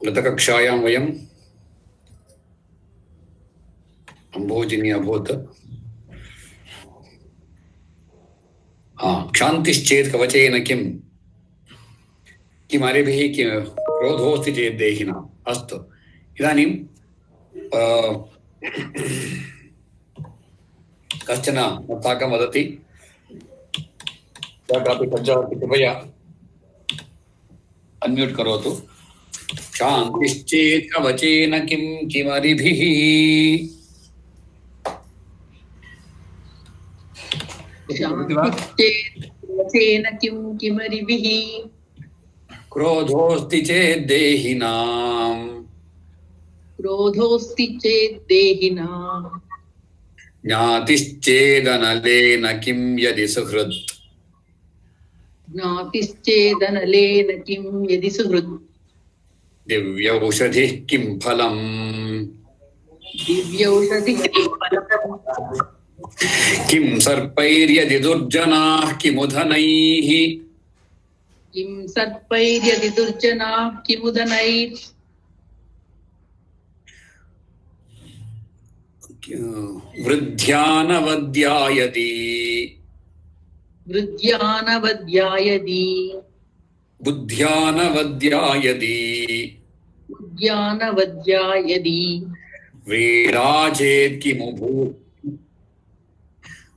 गतकक्षायां वयम् अम्भोजिनी अभूत् क्षान्तिश्चेत् कवचेन किम् किमरिभिः क्रोधोऽस्ति चेत् देहिनाम्। अस्तु, इदानीं कश्चन साकं वदति, कापि सज्जा कृपया अन्म्यूट् करोतु। क्षान्तिश्चेत् कवचेन किं किमरिभिः क्रोधोऽस्ति चेत् देहिनाम् ज्ञातिश्चेदनलेन किं यदि सुहृत् दिव्यौषधिः किं फलम् किं सर्पैर्यदि दुर्जनाः किमुदनैः वृद्ध्यानवद्यायति बुद्ध्यानवद्यायति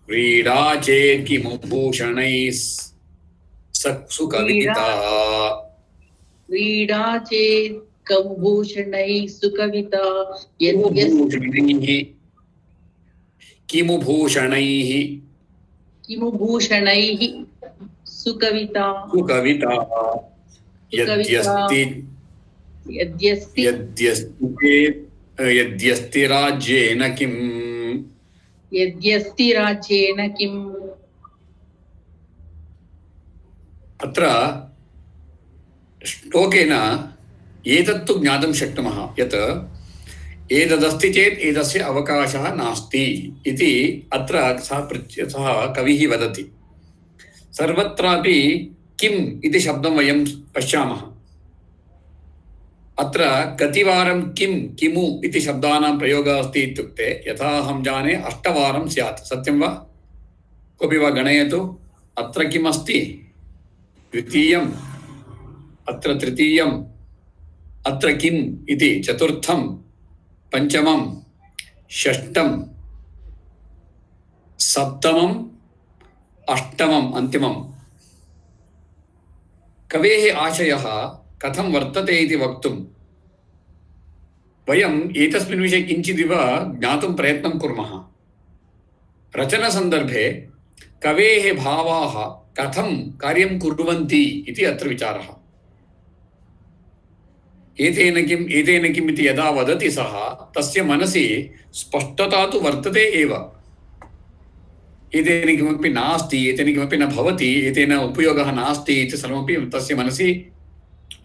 व्रीडाचेत् किमुभूषणैः सुकविता किमुभूषणैः सुकविता यद्यस्ति राज्येन किम् अत्र श्लोकेन एतत्तु ज्ञातुं शक्नुमः यत् एतदस्ति चेत् एतस्य अवकाशः नास्ति इति अत्र सः कविः वदति। सर्वत्रापि किम् इति शब्दं वयं पश्यामः। अत्र कतिवारं किं किमु इति शब्दानां प्रयोगः अस्ति इत्युक्ते यथा अहं जाने 8 वारं स्यात्। सत्यं वा? कोऽपि वा गणयतु। अत्र किम् अस्ति? द्वितीयम्, अत्र तृतीयम्, अत्र किम् इति चतुर्थं, पंचमं, षष्ठं, सप्तमं, अष्टमं, अन्तिमं। कवेः आशयः कथं वर्तते इति वक्तुं वयम् एतस्मिन् विषये किञ्चिदिव ज्ञातुं प्रयत्नं कुर्मः। रचनसन्दर्भे कवेः भावाः कथं कार्यं कुर्वन्ति इति अत्र विचारः। एतेन किम् इति यदा वदति सः, तस्य मनसि स्पष्टता तु वर्तते एव। एतेन किमपि नास्ति, एतेन किमपि न भवति, एतेन उपयोगः नास्ति इति सर्वमपि तस्य मनसि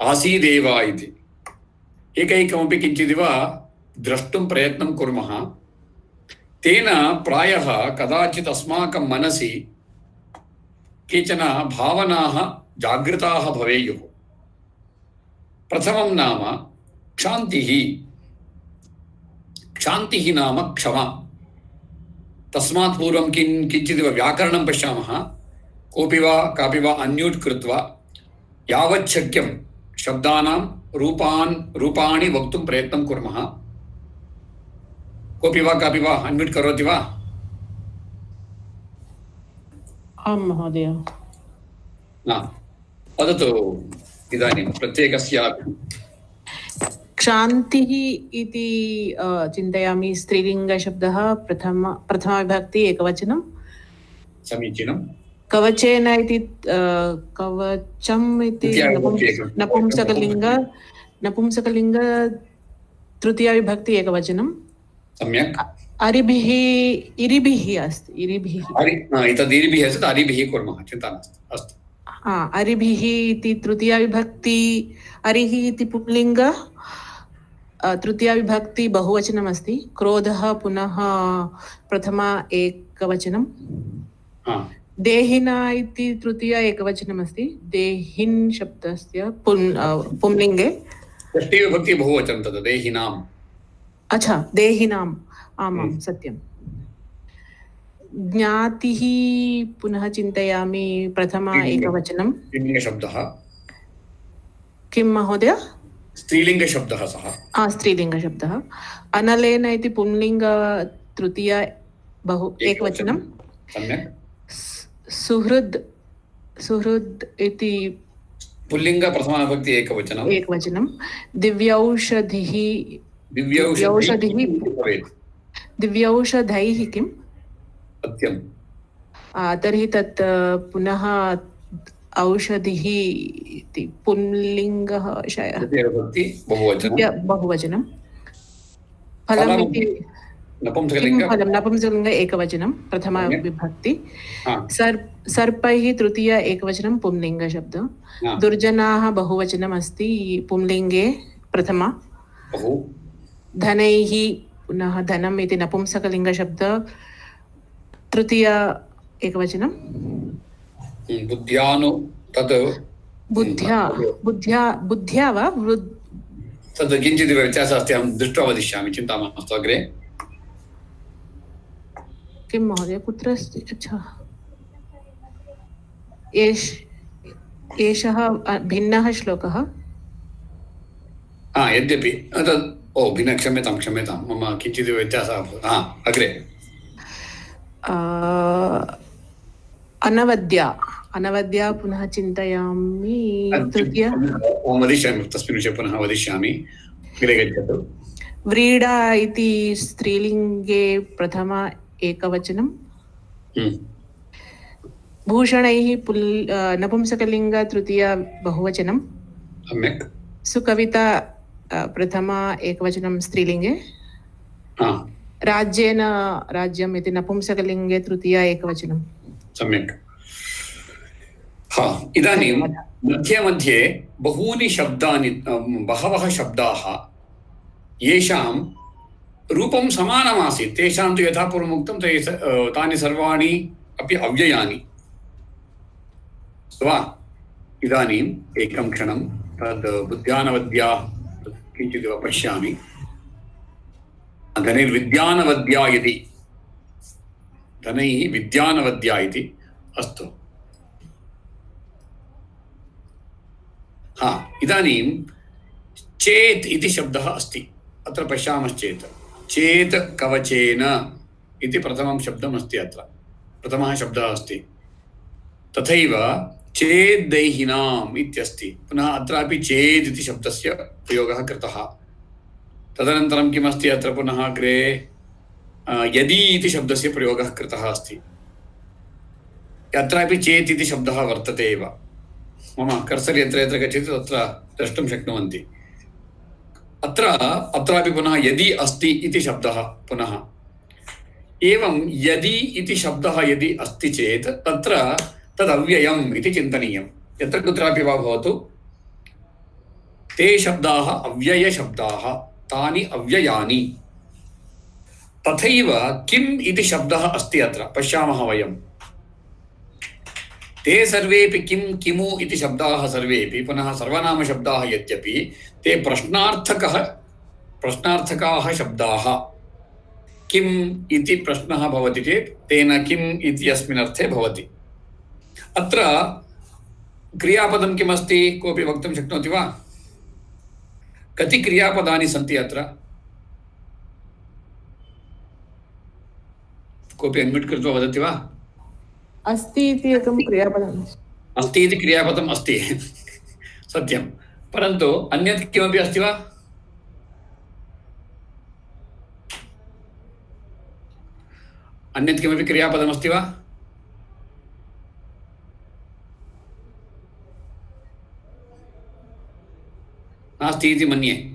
आसीदेव इति। एकैकमपि किञ्चिदिव द्रष्टुं प्रयत्नं कुर्मः। तेन प्रायः कदाचित् अस्माकं मनसि केचन भावनाः जागृताः भवेयुः। प्रथमं नाम क्षान्तिः। क्षान्तिः नाम क्षमा। तस्मात् पूर्वं किञ्चिदिव व्याकरणं पश्यामः। कोऽपि वा कापि वा अन्म्यूट् कृत्वा यावत् शक्यं शब्दानां रूपाणि वक्तुं प्रयत्नं कुर्मः। कोऽपि वा कापि वा अन्म्यूट् करोति वा? आं महोदय। वदतु इदानीं प्रत्येकस्य। क्षान्तिः इति चिन्तयामि। स्त्रीलिङ्गशब्दः, प्रथमाविभक्ति, एकवचनं। समीचीनं। कवचेन इति कवचम् इति नपुंसकलिङ्ग तृतीयाविभक्ति, एकवचनं। सम्यक्। अरिभिः इरिभिः अस्ति। इरिभिः अस्ति। अरिभिः कुर्मः, चिन्ता नास्ति। अस्तु। अरिभिः इति तृतीयाविभक्ति। अरिः इति पुंलिङ्ग, तृतीयाविभक्ति बहुवचनमस्ति। क्रोधः पुनः प्रथमा एकवचनं। देहिना इति तृतीया एकवचनमस्ति। देहिन् शब्दस्य पुंलिङ्गे षष्ठीविभक्ति बहुवचनं तद् देहिनाम्। अच्छा, देहिनाम्, आमां सत्यं। ज्ञातिः पुनः चिन्तयामि, प्रथमा एकवचनं। स्त्रीलिङ्गशब्दः। किं महोदय? स्त्रीलिङ्गशब्दः सः। स्त्रीलिङ्गशब्दः। अनलेन इति पुंलिङ्ग, तृतीया बहु एकवचनं। सम्यक्। सुहृद् इति पुल्लिङ्ग प्रथमाविभक्ति एकवचनम्। एकवचनं। दिव्यौषधिः किं? सत्यं। तर्हि तत् पुनः औषधिः इति पुंलिङ्गः बहुवचनं। फलम् इति नपुंसकलिङ्ग एकवचनं, प्रथमा विभक्ति। सर्पैः तृतीया एकवचनं, पुंलिङ्गशब्दः। दुर्जनाः बहुवचनम् अस्ति, पुंलिङ्गे प्रथमा। धनैः पुनः धनम् इति नपुंसकलिङ्गशब्दः, तृतीया एकवचनं। बुद्ध्या वा तद् किञ्चित् व्यत्यासः अस्ति, अहं दृष्ट्वा वदिष्यामि, चिन्ता मास्तु। अग्रे किं महोदय, कुत्र अस्ति? अच्छा, एषः भिन्नः श्लोकः। यद्यपि तद् भिन्न, क्षम्यतां मम किञ्चित् व्यत्यासः अभवत्। अग्रे अनवद्या पुनः चिन्तयामि, तृतीया वदिष्यामि, तस्मिन् विषये पुनः वदिष्यामि। अग्रे गच्छतु। व्रीडा इति स्त्रीलिङ्गे प्रथमा एकवचनं। भूषणैः नपुंसकलिङ्ग तृतीया बहुवचनं। सम्यक्। सुकविता प्रथमा एकवचनं स्त्रीलिङ्गे। राज्येन राज्यम् इति नपुंसकलिङ्गे तृतीया एकवचनं। सम्यक्। इदानीं मध्ये बहवः शब्दाः येषां रूपं समानमासीत्, तेषां तु यथा पूर्वमुक्तं तानि सर्वाणि अपि अव्ययानि वा। इदानीम् एकं क्षणं तद् बुद्ध्यानवद्या किञ्चिदिव पश्यामि। धनैर्विद्यानवद्या इति, धनैः विद्यानवद्या इति। अस्तु, इदानीं चेत् इति शब्दः अस्ति। अत्र पश्यामश्चेत् चेत् कवचेन इति प्रथमं शब्दम् अस्ति, अत्र प्रथमः शब्दः अस्ति। तथैव चेद्दैहिनाम् इत्यस्ति, पुनः अत्रापि चेत् इति शब्दस्य प्रयोगः कृतः। तदनन्तरं किमस्ति अत्र पुनः अग्रे यदि इति शब्दस्य प्रयोगः कृतः अस्ति। अत्रापि चेत् इति शब्दः वर्तते एव। मम कर्सर् यत्र यत्र गच्छति तत्र द्रष्टुं शक्नुवन्ति। अत्रापि पुनः यदि अस्ति इति शब्दः पुनः। एवं यदि इति शब्दः यदि अस्ति चेत् तत्र तदव्ययम् इति चिन्तनीयं। यत्र कुत्रापि वा भवतु, ते शब्दाः अव्ययशब्दाः, तानि अव्ययानि। तथैव किम् इति शब्दः अस्ति अत्र, पश्यामः वयं। ते सर्वेपि किं किमु इति शब्दाः सर्वेपि पुनः सर्वनामशब्दाः, यद्यपि ते प्रश्नार्थकाः शब्दाः। किम् इति प्रश्नः भवति चेत् तेन किम् इति अस्मिन् अर्थे भवति। अत्र क्रियापदं किमस्ति, कोऽपि वक्तुं शक्नोति वा? कति क्रियापदानि सन्ति अत्र? कोऽपि अन्म्यूट् कृत्वा वदति वा? अस्ति इति एकं क्रियापदम् अस्ति इति क्रियापदम् अस्ति सत्यं, परन्तु अन्यत् किमपि अस्ति वा? अन्यत् किमपि क्रियापदमस्ति वा? नास्ति इति मन्ये।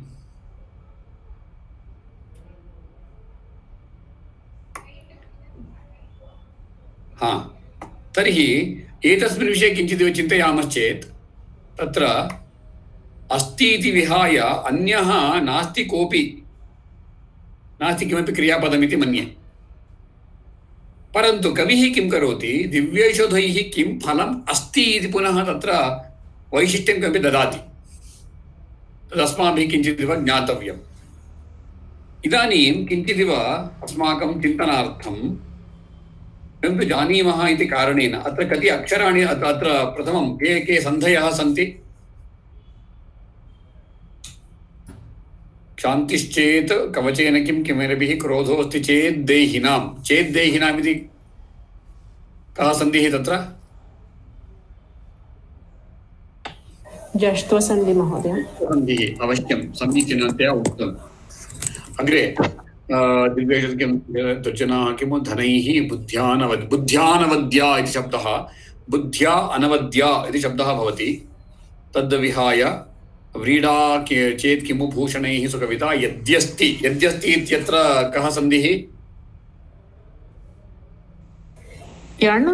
तर्हि एतस्मिन् विषये किञ्चित् चिन्तयामश्चेत् तत्र अस्ति इति विहाय अन्यः नास्ति, कोऽपि नास्ति किमपि क्रियापदमिति मन्ये। परन्तु कविः किं करोति, दिव्यैषधैः किं फलम् अस्ति इति पुनः तत्र वैशिष्ट्यं किमपि ददाति। तदस्माभिः किञ्चिदिव ज्ञातव्यम्। इदानीं किञ्चिदिव अस्माकं चिन्तनार्थं वयं तु जानीमः इति कारणेन अत्र कति अक्षराणि अत्र प्रथमं के के सन्धयः सन्ति? क्षान्तिश्चेत् कवचेन किं किमरभिः क्रोधोऽस्ति चेत् देहिनाम् इति कः सन्धिः तत्र? जष्ट्वसन्धि महोदय। सन्धिः अवश्यं समीचीनतया उक्तम्। अग्रे दुर्जनाः किमु धनैः बुद्ध्यानवद्या इति शब्दः बुद्ध्या अनवद्या इति शब्दः भवति। तद्विहाय व्रीडा चेत् किमु भूषणैः सुकविता यद्यस्ति इत्यत्र कः सन्धिः? यण्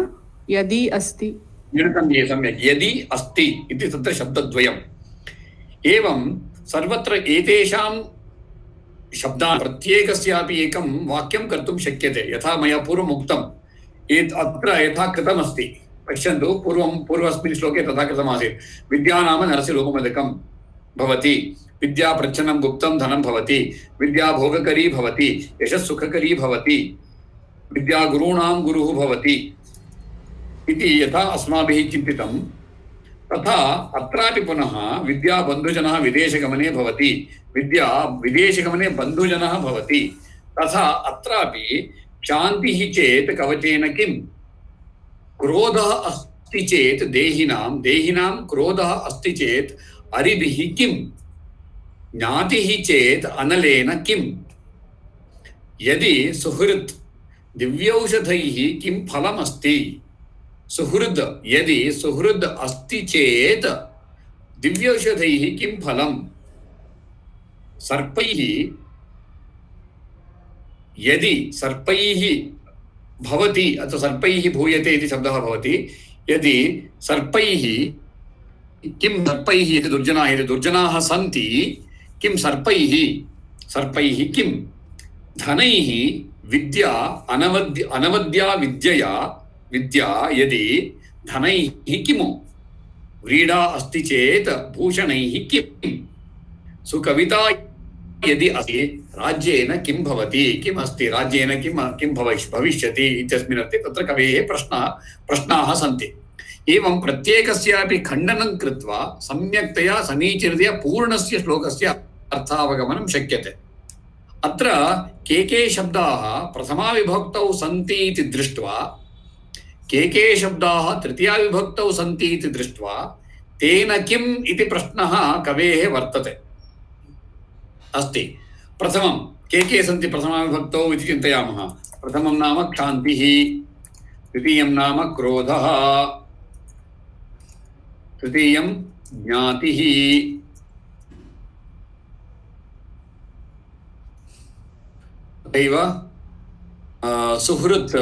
यदि अस्ति। यणसन्धिः सम्यक्। यदि अस्ति इति तत्र शब्दद्वयम्। एवं सर्वत्र एतेषां शब्दान् प्रत्येकस्यापि एकं वाक्यं कर्तुं शक्यते। यथा मया पूर्वम् उक्तम् अत्र यथा कृतमस्ति पश्यन्तु। पूर्वस्मिन् श्लोके तथा कृतमासीत्। विद्या नाम नरस्य रूपमधिकं भवति, विद्या प्रच्छन्नं गुप्तं धनं भवति, विद्या भोगकरी भवति, यशस्सुखकरी भवति, विद्या गुरूणां गुरुः भवति इति यथा अस्माभिः चिन्तितं तथा अत्रापि पुनः विद्या बन्धुजनः विदेशगमने भवति, विद्या विदेशगमने बन्धुजनः भवति। तथा अत्रापि शान्तिः चेत् कवचेन किं? क्रोधः अस्ति चेत् देहिनां क्रोधः अस्ति चेत् अरिभिः किं? ज्ञातिः चेत् अनलेन किं? यदि सुहृत् दिव्यौषधैः किं फलमस्ति? यदि सुहृद् अस्ति चेत् दिव्यौषधैः किं फलम्? सर्पैः यदि सर्पैः भवति अथवा सर्पैः भूयते इति शब्दः भवति। यदि सर्पैः किं सर्पैः इति दुर्जनाः सन्ति किं सर्पैः किं? धनैः विद्या अनवद्या विद्या यदि धनैः किमु? व्रीडा अस्ति चेत् भूषणैः किं? सुकविता यदि अस्ति राज्येन किं भवति? किम् अस्ति राज्येन किं भविष्यति इत्यस्मिन् अर्थे तत्र कवेः प्रश्नाः सन्ति। एवं प्रत्येकस्यापि खण्डनं कृत्वा सम्यक्तया समीचीनतया पूर्णस्य श्लोकस्य अर्थावगमनं शक्यते। अत्र के शब्दाः प्रथमाविभक्तौ सन्ति इति दृष्ट्वा के शब्दाः तृतीयाविभक्तौ सन्ति इति दृष्ट्वा तेन किम् इति प्रश्नः कवेः वर्तते अस्ति। प्रथमं के सन्ति प्रथमाविभक्तौ इति चिन्तयामः। प्रथमं नाम क्षान्तिः, द्वितीयं नाम क्रोधः, तृतीयं ज्ञातिः, तथैव सुहृत्।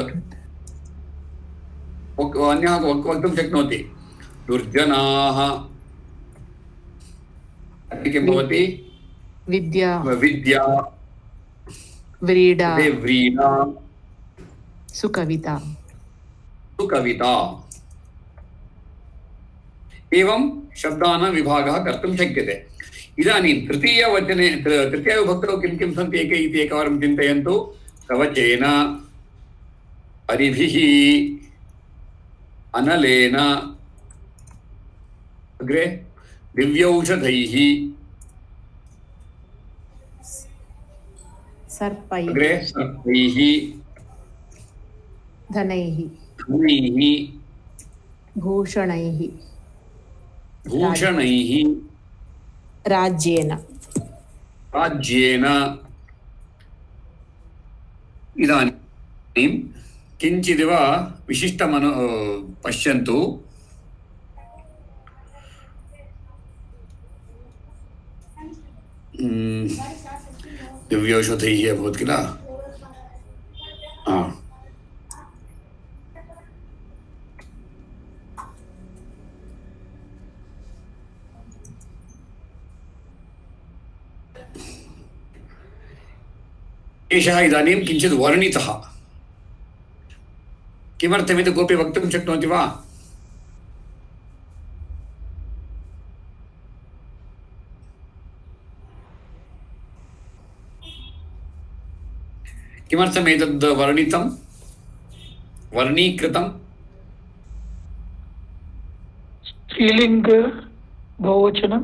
अन्यः वक्तुं शक्नोति दुर्जनाः किं भवति? विद्या व्रीडा सुकविता। एवं शब्दानां विभागः कर्तुं शक्यते। इदानीं तृतीयविभक्तौ किं सन्ति इति एकवारं चिन्तयन्तु। कवचेन, अरिभिः, अनलेन, अग्रे दिव्यौषधैः, सर्पैः, अग्रे सर्पैः, धनैः, भूषणैः, राज्येन। इदानीं किञ्चिदिव विशिष्टमनु पश्यन्तु। दिव्यौषधैः अभवत् किल? एषः इदानीं किञ्चित् वर्णितः। किमर्थमिति कोऽपि वक्तुं शक्नोति वा? किमर्थम् एतद् वर्णितं वर्णीकृतं? स्त्रीलिङ्ग बहुवचनं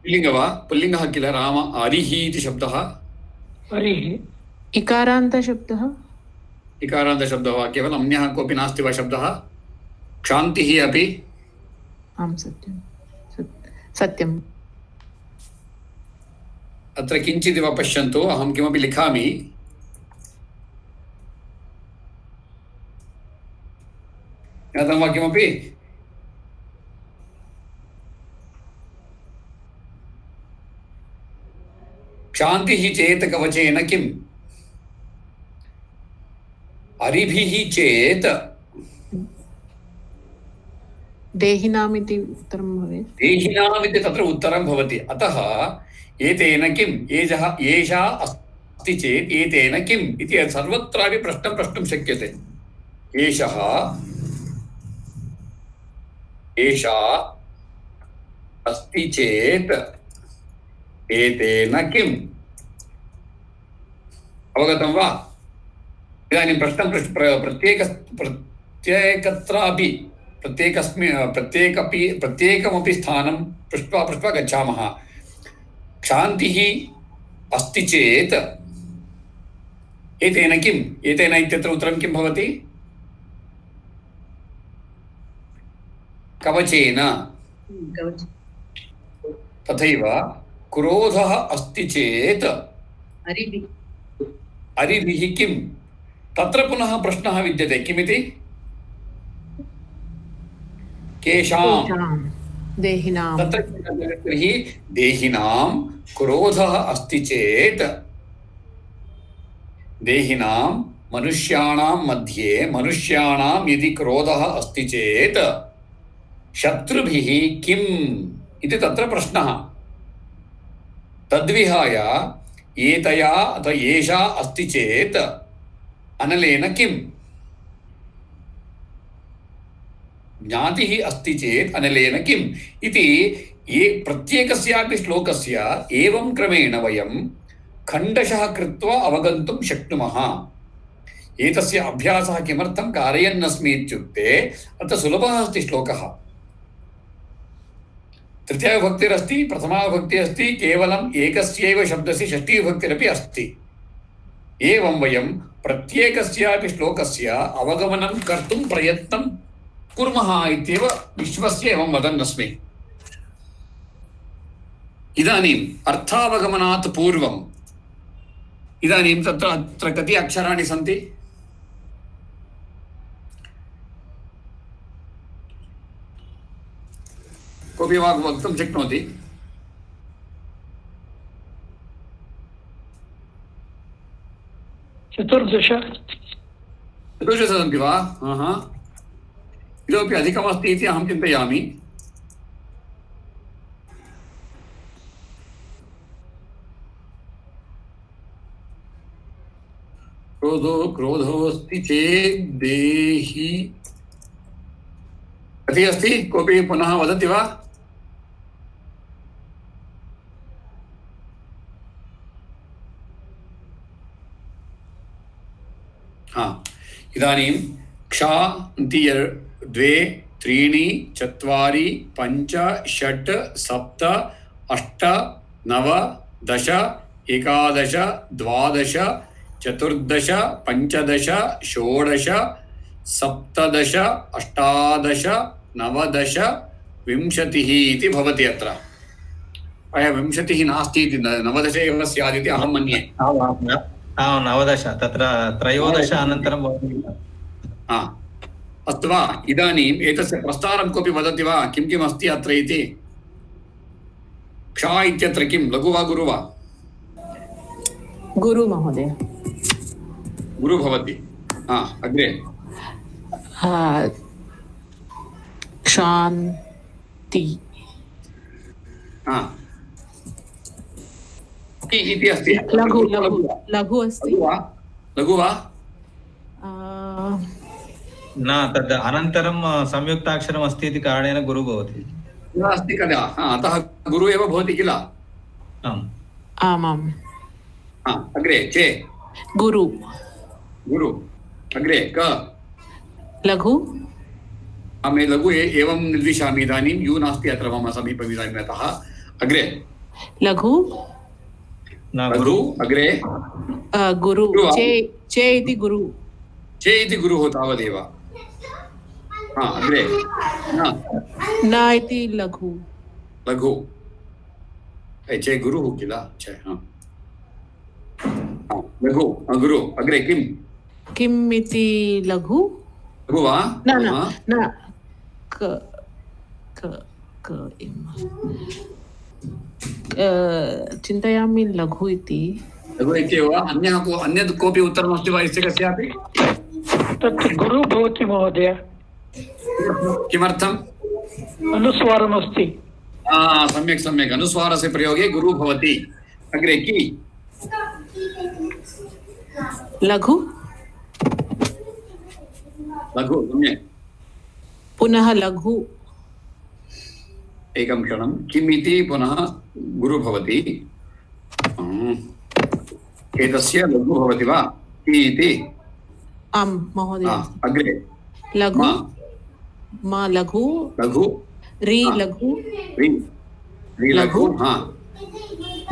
पुल्लिङ्ग वा? पुल्लिङ्गः किल? राम हरिः इति शब्दः हरिः इकारान्तशब्दः इकारान्तशब्दः वा? केवलम् अन्यः कोऽपि नास्ति वा शब्दः? क्षान्तिः अपि? आं सत्यम्। अत्र किञ्चिदिव पश्यन्तु, अहं किमपि लिखामि। ज्ञातं वा किमपि? क्षान्तिः चेत् कवचेन किम्? हरिभिः चेत् देहिनाम् इति उत्तरं भवेत्। देहिनाम् इति तत्र उत्तरं भवति। अतः एतेन किम्? एषा अस्ति चेत् एतेन किम् इति सर्वत्रापि प्रश्नं प्रष्टुं शक्यते। एषा अस्ति चेत् एतेन किम्? अवगतं वा? इदानीं प्रश्नं प्रत्येकत्रापि प्रत्येकमपि स्थानं पृष्ट्वा गच्छामः। क्षान्तिः अस्ति चेत् एतेन किम्? एतेन इत्यत्र उत्तरं किं भवति? कवचेन। तथैव क्रोधः अस्ति चेत् हरिभिः किम्? तत्र पुनः प्रश्नः विद्यते। किमिति? केषां? देहिनां। तत्र तर्हि देहिनां क्रोधः अस्ति चेत् देहिनां मनुष्याणां मध्ये मनुष्याणां यदि क्रोधः अस्ति चेत् शत्रुभिः किम् इति तत्र प्रश्नः। तद्विहाय एतया अथवा एषा अस्ति चेत् अनलेन किम्? ज्ञातिः अस्ति चेत् अनलेन किम् इति प्रत्येकस्यापि श्लोकस्य एवं क्रमेण वयं खण्डशः कृत्वा अवगन्तुं शक्नुमः। एतस्य अभ्यासः किमर्थं कारयन्नस्मि इत्युक्ते अत्र सुलभः अस्ति श्लोकः। तृतीयाविभक्तिरस्ति, प्रथमाविभक्तिः अस्ति, केवलम् एकस्यैव शब्दस्य षष्ठीविभक्तिरपि अस्ति। एवं वयं प्रत्येकस्यापि श्लोकस्य अवगमनं कर्तुं प्रयत्नं कुर्मः इत्येव विश्वस्य एवं वदन्नस्मि। इदानीम् अर्थावगमनात् पूर्वम् इदानीं अत्र कति अक्षराणि सन्ति? कोऽपि वक्तुं शक्नोति? चतुर्दश सन्ति वा? इतोपि अधिकमस्ति इति अहं चिन्तयामि। क्रोधोऽस्ति चेत् देहि कति अस्ति? कोऽपि पुनः वदति वा? इदानीं क्षान्ति 2 3 4 5 6 7 8 9 10 11 12 14 15 16 17 18 19 20 इति भवति। अत्र प्रायः 20 नास्ति इति 19 एव स्यात् इति अहं मन्ये। 19 तत्र 13 अनन्तरं भवति। अस्तु वा? इदानीम् एतस्य प्रस्तारं कोऽपि वदति वा? किं किम् अस्ति अत्र इति?क्षा इत्यत्र किं? लघु वा गुरु वा? गुरु महोदय। गुरु भवति। अग्रे क्षान्ति इति अस्ति। लघु अस्ति। लघु वा? न, तद् अनन्तरं संयुक्ताक्षरम् अस्ति इति कारणेन गुरु भवति। अस्ति कदा? अतः गुरु एव भवति किल? आम् आमाम्। अग्रे चे गुरु गुरु अग्रे क लघु मे लघु एवं निर्दिशामि इदानीं यू नास्ति अत्र मम समीपे इदानीम् अतः अग्रे लघु लघु अग्रे गुरु गुरु वा? चे इति गुरु चे इति गुरुः तावदेव अग्रे न इति लघु लघु चे गुरुः किल चे लघु गुरु अग्रे किम् इति लघु लघु वा न न न क क क चिन्तयामि लघु इति लघु इत्येव अन्यत् कोऽपि उत्तरमस्ति वा यस्य कस्यापि तत् गुरु भवति महोदय किमर्थम् अनुस्वारमस्ति सम्यक् सम्यक् अनुस्वारस्य प्रयोगे गुरु भवति अग्रे कि लघु लघु सम्यक् पुनः लघु एकं क्षणं किम् इति पुनः गुरु भवति एतस्य लघु भवति वा कि इति आम् महोदय अग्रे लघु मा लघु लघु रि लघु रि लघु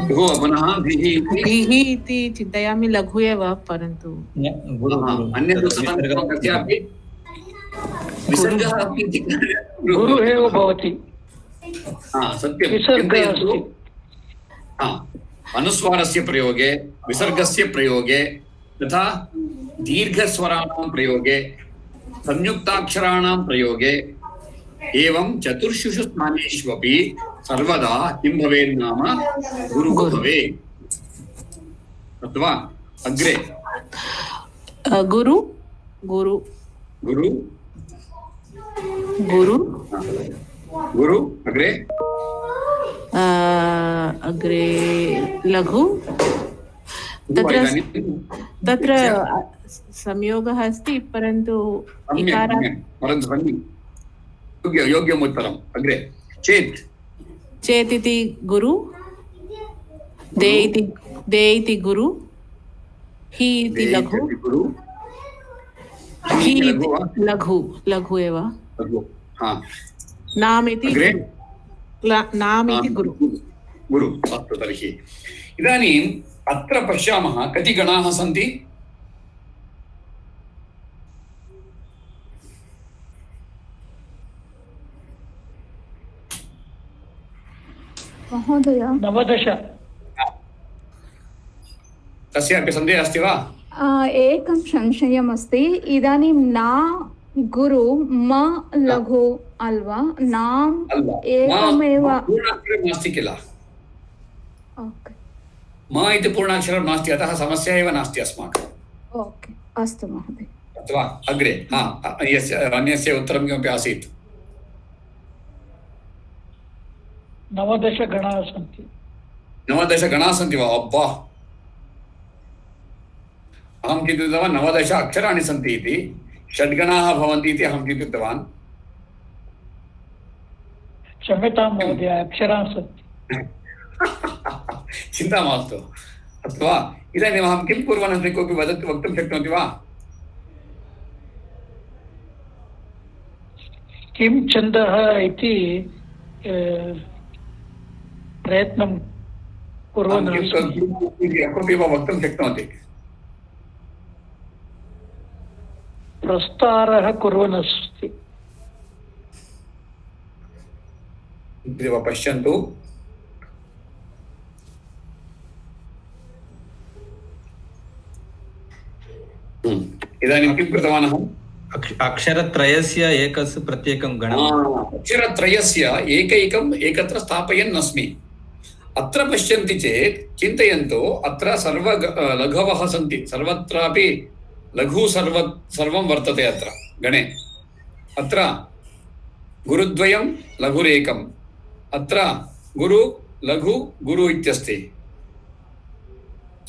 लघु पुनः धिः इति चिन्तयामि लघु एव परन्तु अन्यत् कस्यापि विसर्गः अपि गुरु एव भवति सत्यं विसर्गः अस्ति अनुस्वारस्य प्रयोगे विसर्गस्य प्रयोगे तथा दीर्घस्वराणां प्रयोगे संयुक्ताक्षराणां प्रयोगे एवं चतुर्षु स्थानेष्वपि सर्वदा किं भवेत् नाम गुरुः भवेत् अथवा अग्रे गुरु गुरु गुरु गुरु गुरु अग्रे अग्रे लघु तत्र संयोगः अस्ति परन्तु योग्यम् उत्तरम् अग्रे चेत् इति गुरु दे इति गुरु हि इति लघु हि लघु लघु एव नाम इति गुरु गुरु अस्तु तर्हि इदानीम् अत्र पश्यामः कति गणाः सन्ति महोदय 19 कस्यापि सन्देहः अस्ति वा एकं संशयमस्ति इदानीं ना गुरु म लघु अल्वा नाम एकमेव नास्ति किल ओके म इति पूर्णाक्षरं नास्ति अतः समस्या एव नास्ति अस्माकम् ओके अस्तु महोदय अथवा अग्रे अन्यस्य उत्तरं किमपि आसीत् 19 गणाः सन्ति 19 गणाः सन्ति वा अब्बा अहं चिन्तितवान् 19 अक्षराणि सन्ति इति षड्गणाः भवन्ति इति अहं चिन्तितवान् क्षम्यतां महोदय अक्षराः सन्ति चिन्ता मास्तु अथवा इदानीम् अहं किं कुर्वन् अस्मि कोऽपि वक्तुं शक्नोति वा किं छन्दः इति प्रयत्नं कुर्वन् कोऽपि वा वक्तुं शक्नोति प्रस्तारः कुर्वन् अस्ति पश्यन्तु इदानीं किं कृतवान् अहम् अक्षरत्रयस्य एकस्य प्रत्येकं गणम् अक्षरत्रयस्य एकत्र स्थापयन् अस्मि अत्र पश्यन्ति चेत् चिन्तयन्तु अत्र सर्व लघवः सन्ति सर्वत्रापि लघु सर्वं वर्तते अत्र गणे अत्र गुरुद्वयं लघुरेकम् अत्र गुरु लघु गुरु इत्यस्ति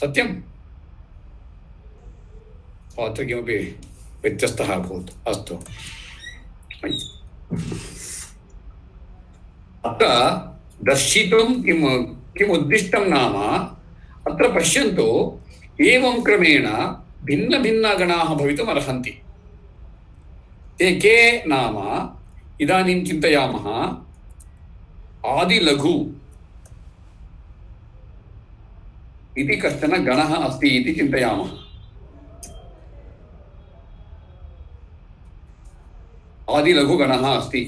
सत्यम् अत्र किमपि व्यत्यस्तः अभूत् अस्तु अत्र दर्शितुं किम् उद्दिष्टं नाम अत्र पश्यन्तु एवं क्रमेण भिन्नभिन्नगणाः भवितुम् अर्हन्ति। ते के नाम इदानीं चिन्तयामः। आदिलघु इति कश्चन गणः अस्ति इति चिन्तयामः। आदिलघुगणः अस्ति।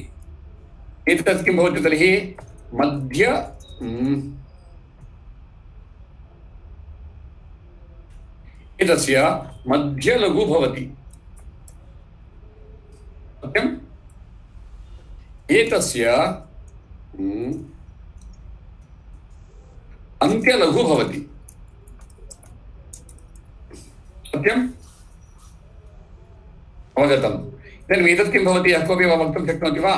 एतत् किं भवति तर्हि? मध्य एतस्य मध्यलघु भवति। सत्यम्? एतस्य अन्त्यलघु भवति। सत्यम्? अवगतम्? इदानीम् एतत् किं भवति? यः कोऽपि वा वक्तुं शक्नोति वा?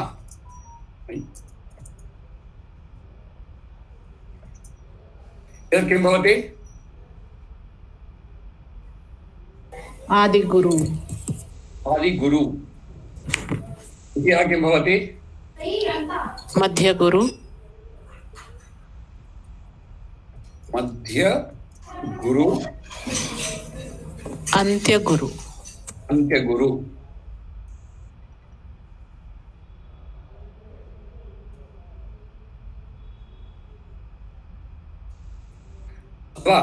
एतत् किं भवति? आदिगुरु। आदिगुरु। इति किं भवति? मध्यगुरु। मध्यगुरु। अन्त्यगुरु। अन्त्यगुरु। वा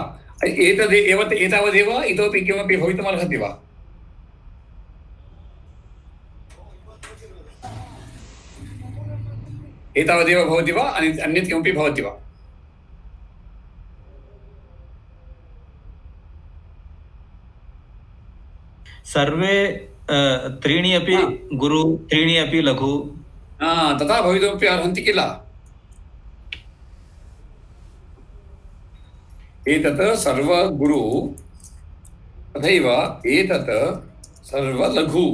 एतदेव एतावदेव इतोपि किमपि भवितुमर्हति वा? एतावदेव भवति वा? अन्यत् किमपि भवति वा? सर्वे त्रीणि अपि गुरु, त्रीणि अपि लघु। तथा भवितुमपि अर्हन्ति किल? एतत् सर्वगुरु तथैव एतत् सर्वलघु।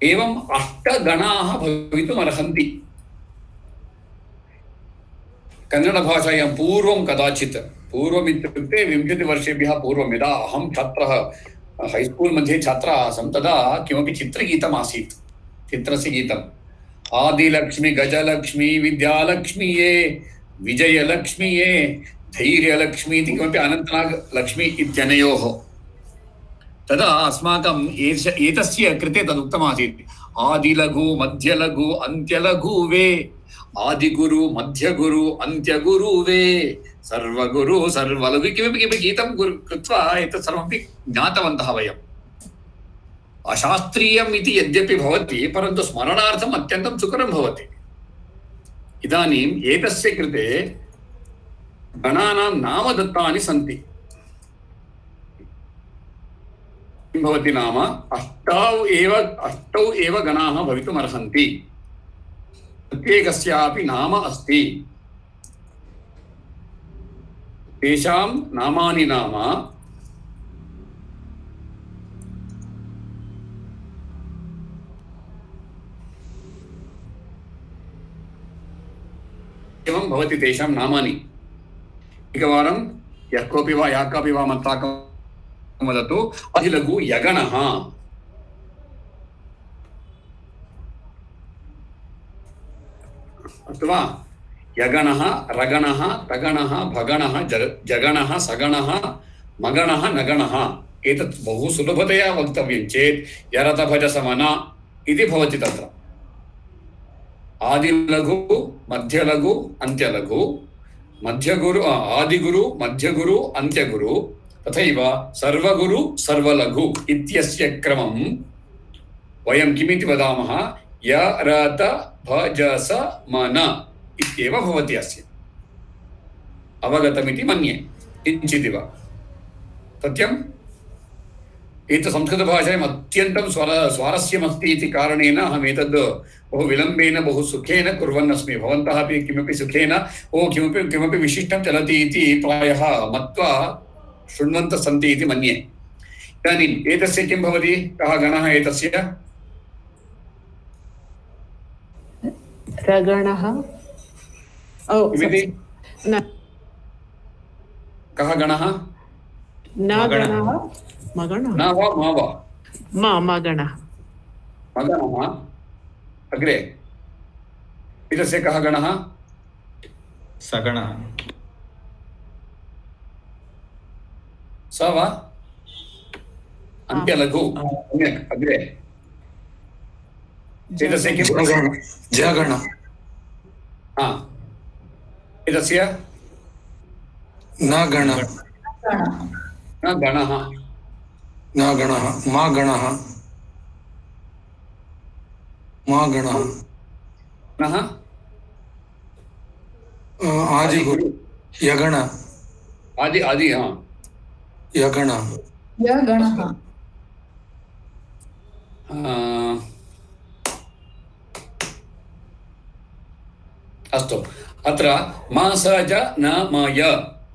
एवम् 8 गणाः भवितुमर्हन्ति। कन्नडभाषायां पूर्वं कदाचित्, पूर्वमित्युक्ते 20 वर्षेभ्यः पूर्वं यदा अहं छात्रः हैस्कूल् मध्ये छात्रः आसं तदा किमपि चित्रगीतम् आसीत्। चित्रस्य गीतम् आदिलक्ष्मी गजलक्ष्मी विद्यालक्ष्मी ये विजयलक्ष्मी ये धैर्यलक्ष्मी इति किमपि अनन्तनागलक्ष्मी इत्यनयोः। तदा अस्माकम् एतस्य कृते तदुक्तमासीत्। आदिलघु मध्यलघु अन्त्यलघु वे, आदिगुरु मध्यगुरु अन्त्यगुरु वे, सर्वगुरु सर्वलघु किमपि किमपि गीतं कृत्वा एतत् सर्वमपि ज्ञातवन्तः वयम्। अशास्त्रीयम् इति यद्यपि भवति परन्तु स्मरणार्थम् अत्यन्तं सुकरं भवति। इदानीम् एतस्य कृते गणानां नाम दत्तानि सन्ति। किं भवति नाम? 8 एव गणाः भवितुमर्हन्ति। प्रत्येकस्यापि नाम अस्ति। तेषां नामानि नाम एवं भवति। तेषां नामानि एकवारं यः कोऽपि वा या कापि वा मत्ताकं वदतु। आदिलघु यगणः, अस्तु वा? यगणः, रगणः, तगणः, भगणः, जगणः, सगणः, मगणः, नगणः। एतत् बहु सुलभतया वक्तव्यं चेत् यरतभजसमन इति भवति तत्र। आदिलघु मध्यलघु अन्त्यलघु, मध्यगुरु आदिगुरु मध्यगुरु अन्त्यगुरु, तथैव सर्वगुरु सर्वलघु इत्यस्य क्रमं वयं किमिति वदामः? यरत भजस मन इत्येव भवति अस्य। अवगतमिति मन्ये किञ्चिदिव। सत्यम्? एतत् संस्कृतभाषायाम् अत्यन्तं स्वारस्यमस्ति इति कारणेन अहम् एतद् बहु विलम्बेन बहु सुखेन कुर्वन् अस्मि। भवन्तः अपि किमपि सुखेन किमपि विशिष्टं चलति इति प्रायः मत्वा शृण्वन्तः सन्ति इति मन्ये। इदानीम् एतस्य किं भवति? कः गणः एतस्य? रगणः। किमिति? कः गणः? न गणः। मगणः। न वा मा वा? मगणः। मगणः। अग्रे एतस्य कः गणः? सगणः स वा अन्त्यलघु सम्यक् अग्रे एतस्य किं जगण एतस्य न गण न गणः न गणः मा गणः मा गणः नः आदिगुरु यगण आदि आदि यगण यगणः अस्तु अत्र मासज न मय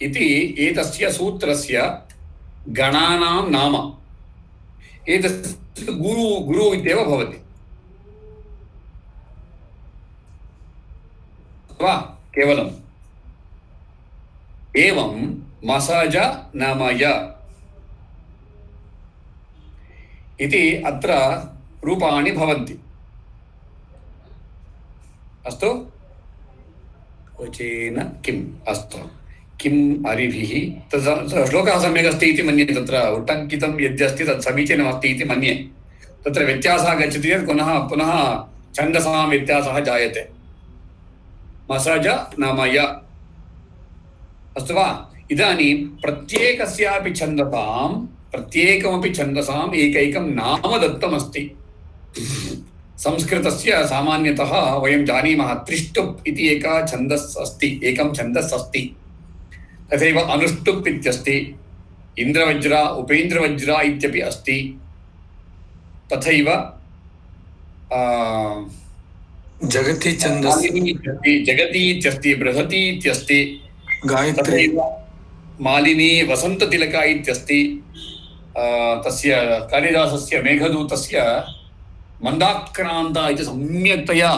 इति एतस्य सूत्रस्य गणानां नाम एतस्य गुरु इत्येव भवति वा केवलम् एवं मसज न मय इति अत्र रूपाणि भवन्ति अस्तु वचेन किम् अस्तु किम् अरिभिः तत् श्लोकः सम्यक् अस्ति इति मन्ये तत्र उट्टङ्कितं यद्यस्ति तत् समीचीनमस्ति इति मन्ये तत्र व्यत्यासः गच्छति चेत् पुनः छन्दसां व्यत्यासः जायते मसज न मय अस्तु वा इदानीं प्रत्येकमपि छन्दसाम् एकैकं नाम दत्तमस्ति संस्कृतस्य सामान्यतः वयं जानीमः त्रिष्टुप् इति एकं छन्दस् अस्ति तथैव अनुष्टुप् इत्यस्ति इन्द्रवज्र उपेन्द्रवज्र इत्यपि अस्ति तथैव जगति छन्दस् जगति इत्यस्ति बृहति इत्यस्ति गायत्री मालिनी वसन्ततिलका इत्यस्ति तस्य कालिदासस्य मेघदूतस्य मन्दाक्रान्ता इति सम्यक्तया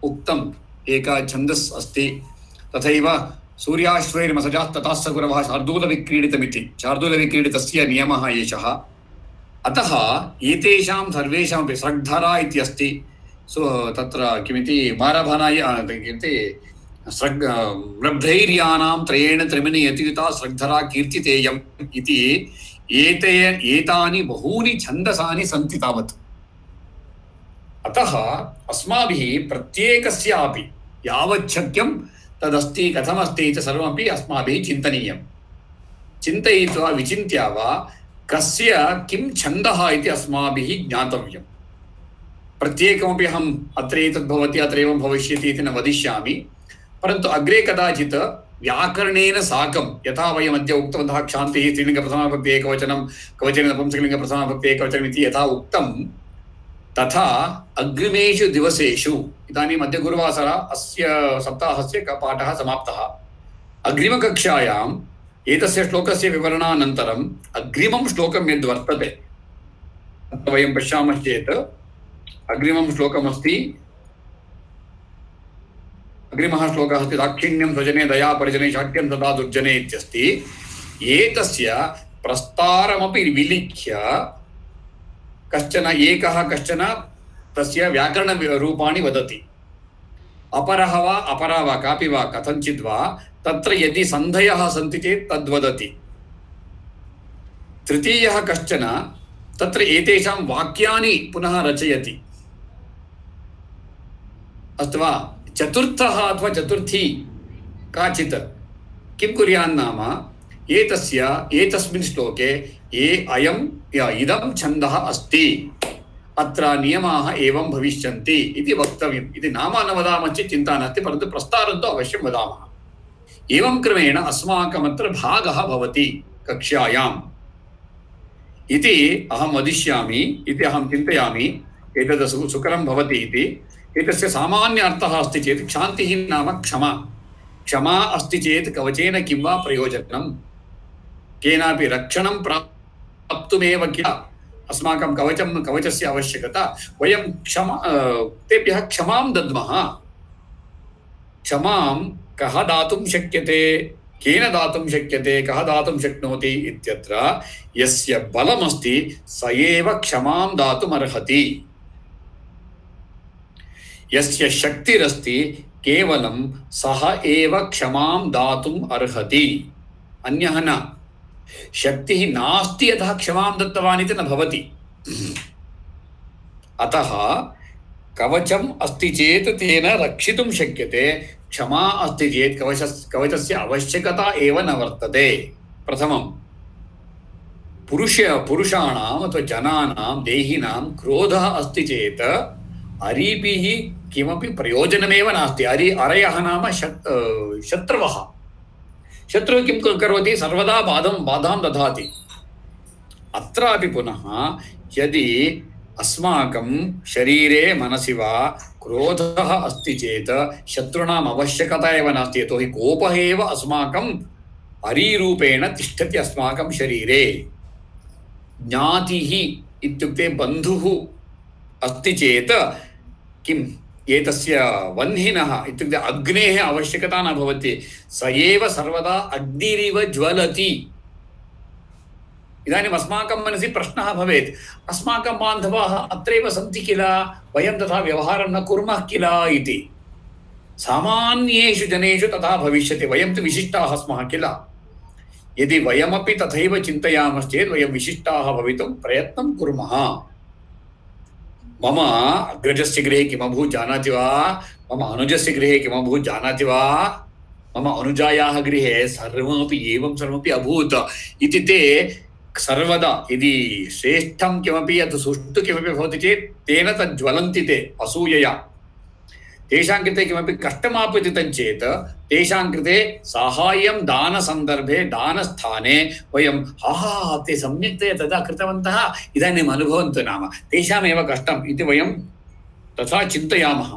उक्तम् एका छन्दस् अस्ति तथैव सूर्याश्वैर्मसजाः ततः स गुरवः शार्दूलविक्रीडितमिति शार्दूलविक्रीडितस्य नियमः एषः अतः एतेषां सर्वेषामपि सृग्धरा इत्यस्ति तत्र किमिति मारभनाय किमिति लब्धैर्यानां त्रयेण त्रिमिनि यतियुता सृग्धरा कीर्तितेयम् इति एतानि बहूनि छन्दसानि सन्ति तावत् अतः अस्माभिः प्रत्येकस्यापि यावच्छक्यं तदस्ति कथमस्ति इति सर्वमपि अस्माभिः चिन्तनीयं चिन्तयित्वा विचिन्त्य वा कस्य किं छन्दः इति अस्माभिः ज्ञातव्यं प्रत्येकमपि अहम् अत्र एतद् भवति अत्र एवं भविष्यति इति न वदिष्यामि परन्तु अग्रे कदाचित् व्याकरणेन साकं यथा वयम् अद्य उक्तवन्तः क्षान्तिः स्त्रीलिङ्गप्रथमाविभक्ति एकवचनं कवचेन नपुंसकलिङ्गप्रथमाविभक्ति एकवचनम् इति यथा उक्तं तथा अग्रिमेषु दिवसेषु इदानीम् अद्य गुरुवासरः अस्य सप्ताहस्य पाठः समाप्तः अग्रिमकक्षायाम् एतस्य श्लोकस्य विवरणानन्तरम् अग्रिमं श्लोकं यद् वर्तते वयं पश्यामश्चेत् अग्रिमं श्लोकमस्ति अग्रिमः श्लोकः अस्ति दाक्षिण्यं स्वजने दया परिजने शाट्यं तदा दुर्जने इत्यस्ति एतस्य प्रस्तारमपि विलिख्य कश्चन तस्य व्याकरणरूपाणि वदति अपरः वा अपरा वा कापि वा कथञ्चित् वा तत्र यदि सन्धयः सन्ति चेत् तद्वदति तृतीयः कश्चन तत्र एतेषां वाक्यानि पुनः रचयति अस्तु वा चतुर्थः अथवा चतुर्थी काचित् किं कुर्यान्नाम एतस्मिन् श्लोके इदं छन्दः अस्ति अत्र नियमाः एवं भविष्यन्ति इति वक्तव्यम् इति नाम न वदामः चेत् चिन्ता नास्ति परन्तु प्रस्तारं तु अवश्यं वदामः एवं क्रमेण अस्माकमत्र भागः भवति कक्ष्यायाम् इति अहं वदिष्यामि इति अहं चिन्तयामि एतद् सुकरं भवति इति एतस्य सामान्य अर्थः अस्ति चेत् क्षान्तिः नाम क्षमा अस्ति चेत् कवचेन किं वा प्रयोजनं केनापि रक्षणं प्राप्तुमेव किल अस्माकं कवचस्य आवश्यकता वयं तेभ्यः क्षमां दद्मः क्षमां कः दातुं शक्यते केन दातुं शक्यते कः दातुं शक्नोति इत्यत्र यस्य बलमस्ति स एव क्षमां दातुमर्हति यस्य शक्तिरस्ति केवलं सः एव क्षमां दातुम् अर्हति, अन्यः न। शक्तिः नास्ति यतः क्षमां दत्तवान् इति न भवति। अतः कवचम् अस्ति चेत् तेन रक्षितुं शक्यते, क्षमा अस्ति चेत् कवचस्य आवश्यकता एव न वर्तते। प्रथमं पुरुषाणाम् अथवा जनानां देहिनां क्रोधः अस्ति चेत् अरीभिः किमपि प्रयोजनमेव नास्ति। अरयः नाम शत्रुवः। शत्रुः किं करोति? सर्वदा बाधां ददाति। अत्रापि पुनः यदि अस्माकं शरीरे मनसि वा क्रोधः अस्ति चेत् शत्रूणाम् आवश्यकता एव नास्ति, यतोहि कोपः एव अस्माकं अरीरूपेण तिष्ठति अस्माकं शरीरे। ज्ञातिः इत्युक्ते बन्धुः अस्ति चेत् किम् एतस्य वह्निनः इत्युक्ते अग्नेः आवश्यकता न भवति, स एव सर्वदा अग्निरिव ज्वलति। इदानीम् अस्माकं मनसि प्रश्नः भवेत्, अस्माकं बान्धवाः अत्रैव सन्ति किल, वयं तथा व्यवहारं न कुर्मः किल इति। सामान्येषु जनेषु तथा भविष्यति, वयं तु विशिष्टाः स्मः किल। यदि वयमपि तथैव चिन्तयामश्चेत् वयं विशिष्टाः भवितुं प्रयत्नं कुर्मः। मम अग्रजस्य गृहे किमभूत् जानाति वा, मम अनुजस्य गृहे किमभूत् जानाति वा, मम अनुजायाः गृहे सर्वमपि एवं सर्वमपि अभूत् इति ते सर्वदा यदि श्रेष्ठं किमपि यत् सुष्ठु किमपि भवति चेत् तेन तद् ज्वलन्ति ते असूयया। तेषां कृते किमपि कष्टमापतितं चेत् तेषां कृते साहाय्यं दानसन्दर्भे दानस्थाने वयं ते सम्यक्तया तदा कृतवन्तः इदानीम् अनुभवन्तु नाम तेषामेव कष्टम् इति वयं तथा चिन्तयामः।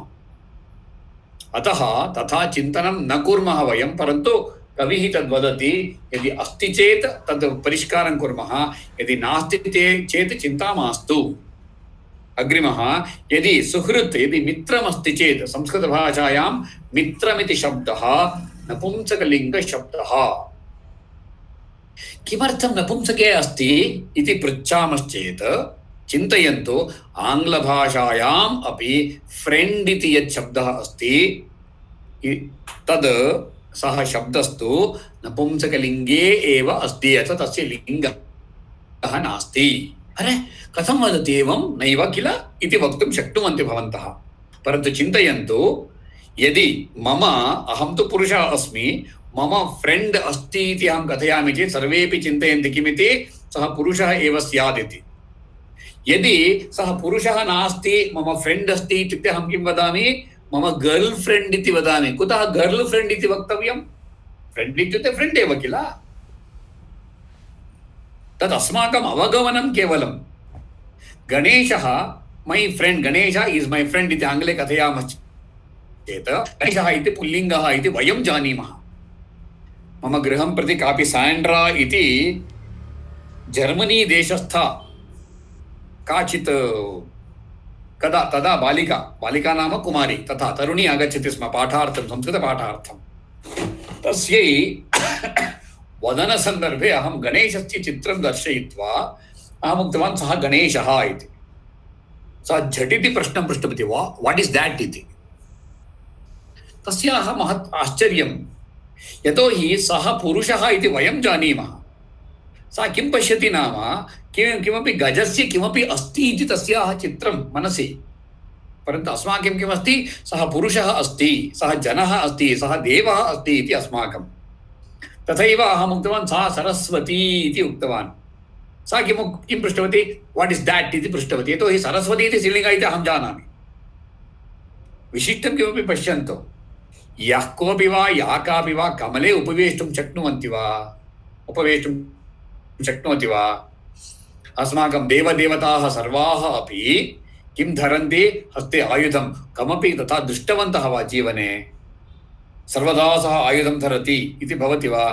अतः तथा चिन्तनं न कुर्मः वयं, परन्तु कविः तद्वदति यदि अस्ति चेत् तद् परिष्कारं कुर्मः, यदि नास्ति चेत् चिन्ता मास्तु। अग्रिमः यदि सुहृत् यदि मित्रमस्ति चेत् संस्कृतभाषायां मित्रमिति शब्दः नपुंसकलिङ्गशब्दः। किमर्थं नपुंसके अस्ति इति पृच्छामश्चेत् चिन्तयन्तु, आङ्ग्लभाषायाम् अपि फ्रेण्ड् इति यत् शब्दः अस्ति तद् सः शब्दस्तु नपुंसकलिङ्गे एव अस्ति, अतः तस्य लिङ्गः नास्ति। अरे कथं वदति एवं? नैव किल इति वक्तुं शक्नुवन्ति भवन्तः। परन्तु चिन्तयन्तु, यदि अहं तु पुरुषः अस्मि, मम फ्रेण्ड् अस्ति इति अहं कथयामि चेत् सर्वेपि चिन्तयन्ति किमिति, सः पुरुषः एव स्यात् इति। यदि सः पुरुषः नास्ति, मम फ्रेण्ड् अस्ति इत्युक्ते अहं किं वदामि? मम गर्ल् फ्रेण्ड् इति वदामि। कुतः गर्ल् फ्रेण्ड् इति वक्तव्यं? फ्रेण्ड् इत्युक्ते फ्रेण्ड् एव किल। तद् अस्माकम् अवगमनं केवलं। गणेशः मै friend, Ganesh is my friend इति आङ्ग्ले कथयामश्चेत् गणेशः इति पुल्लिङ्गः इति वयं जानीमः। मम गृहं प्रति कापि साण्ड्रा इति जर्मनी देशस्था काचित् तदा बालिका नाम कुमारी, तथा तरुणी आगच्छति स्म पाठार्थं, संस्कृतपाठार्थं। तस्यै वदनसन्दर्भे अहं गणेशस्य चित्रं दर्शयित्वा अहम् उक्तवान् सः गणेशः इति। सा झटिति प्रश्नं पृष्टवती, वाट् इस् देट् इति। तस्याः महत् आश्चर्यं, यतोहि सः पुरुषः इति वयं जानीमः। सा किं पश्यति नाम किमपि गजस्य किमपि अस्ति इति तस्याः चित्रं मनसि, परन्तु अस्माकं किमस्ति? सः पुरुषः अस्ति, सः जनः अस्ति, सः देवः अस्ति इति अस्माकं। तथैव अहम् उक्तवान् सा सरस्वती इति उक्तवान्। सा किं पृष्टवती? वाट् इस् देट् इति पृष्टवती, यतोहि सरस्वती इति स्त्रीलिङ्ग इति अहं जानामि। विशिष्टं किमपि पश्यन्तु, यः कोऽपि वा या कापि वा कमले उपवेष्टुं शक्नुवन्ति वा? उपवेष्टुं शक्नोति वा? अस्माकं देवदेवताः सर्वाः अपि किं धरन्ति? हस्ते आयुधं। कमपि तथा दृष्टवन्तः वा जीवने? सर्वदा सः आयुधं धरति इति भवति वा?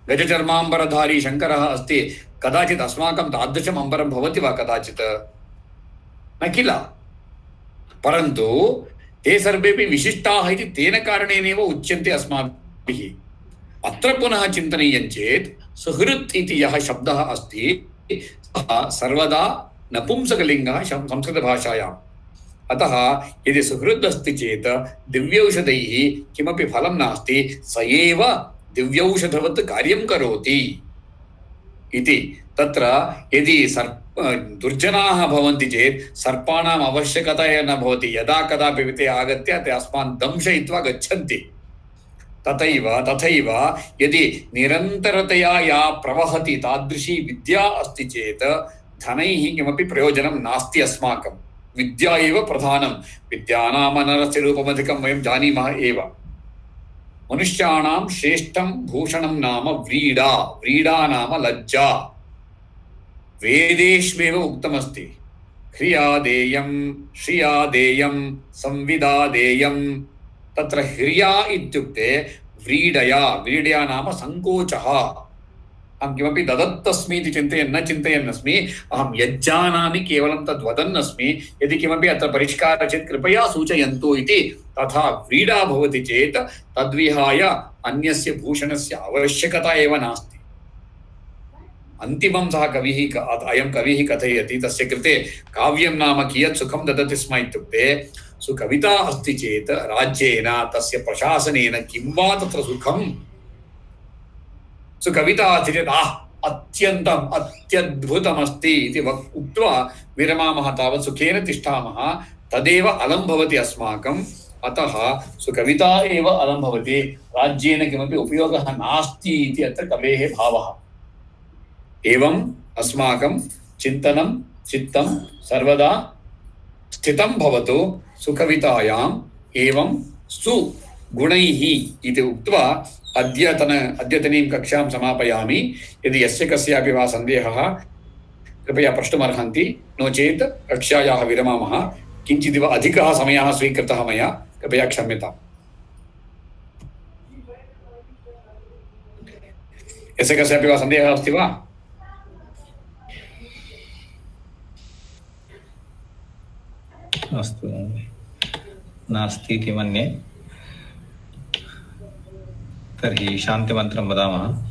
गजचर्माम्बरधारी शङ्करः अस्ति, कदाचित् अस्माकं तादृशम् अम्बरं भवति वा कदाचित्? न किल। परन्तु ते सर्वेपि विशिष्टाः इति तेन कारणेनैव उच्यन्ते अस्माभिः। अत्र पुनः चिन्तनीयं चेत् सुहृत् इति यः शब्दः अस्ति सः सर्वदा नपुंसकलिङ्गः संस्कृतभाषायां। अतः यदि सुहृद् अस्ति चेत् दिव्यौषधैः किमपि फलं नास्ति, स एव दिव्यौषधवत् कार्यं करोति इति। तत्र यदि दुर्जनाः भवन्ति चेत् सर्पाणाम् आवश्यकता एव न भवति। यदा कदापि ते आगत्य ते अस्मान् दंशयित्वा गच्छन्ति। तथैव यदि निरन्तरतया या प्रवहति तादृशी विद्या अस्ति चेत् धनैः किमपि प्रयोजनं नास्ति अस्माकं। विद्या एव प्रधानं। विद्यानामनरस्य रूपमधिकं वयं जानीमः एव। मनुष्याणां श्रेष्ठं भूषणं नाम व्रीडा। व्रीडा नाम लज्जा। वेदेष्वेव उक्तमस्ति, ह्रियादेयं श्रियादेयं संविदादेयं। तत्र ह्रिया इत्युक्ते व्रीडया। व्रीडया नाम सङ्कोचः। अहं किमपि ददत्तस्मि इति चिन्तयन्नस्मि। अहं यज्जानामि केवलं तद् वदन्नस्मि। यदि किमपि अत्र परिष्कारः चेत् कृपया सूचयन्तु इति। तथा व्रीडा भवति चेत् तद्विहाय अन्यस्य भूषणस्य आवश्यकता एव नास्ति। अन्तिमं सः अयं कविः कथयति। तस्य कृते काव्यं नाम कियत् सुखं ददति स्म इत्युक्ते, सुकविता अस्ति चेत् राज्येन तस्य प्रशासनेन किं वा तत्र सुखम्। सुकविता अस्ति चेत् अत्यन्तम् अत्यद्भुतमस्ति इति उक्त्वा विरमामः। तावत् सुखेन तिष्ठामः। तदेव अलं भवति अस्माकम्। अतः सुकविता एव अलं भवति। राज्येन किमपि उपयोगः नास्ति इति अत्र कवेः भावः। एवम् अस्माकं चिन्तनं चित्तं सर्वदा स्थितं भवतु सुकवितायाम्। एवं सुगुणैः इति उक्त्वा अद्यतनीं कक्षां समापयामि। यदि यस्य कस्यापि वा सन्देहः कृपया प्रष्टुमर्हन्ति। नो चेत् कक्षायाः विरमामः। किञ्चिदिव अधिकः समयः स्वीकृतः मया, कृपया क्षम्यताम्। यस्य कस्यापि वा सन्देहः अस्ति वा? अस्तु, नास्ति इति मन्ये। तर्हि शान्तिमन्त्रं वदामः।